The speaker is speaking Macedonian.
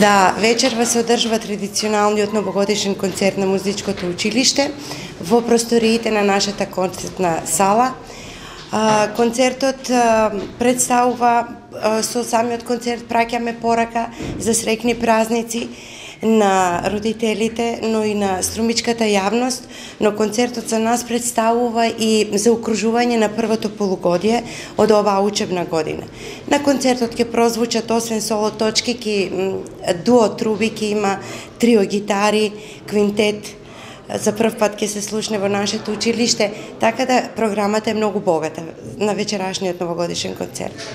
Да, вечерва се одржува традиционалниот новогодишен концерт на музичкото училиште во просториите на нашата концертна сала. Концертот представува, со самиот концерт праќаме порака за среќни празници на родителите, но и на струмичката јавност, но концертот за нас представува и заокружување на првото полугодие од оваа учебна година. На концертот ќе прозвучат освен соло точки, дуо труби, ќе има трио гитари, квинтет, за прв пат ќе се слушне во нашето училиште, така да програмата е многу богата на вечерашниот новогодишен концерт.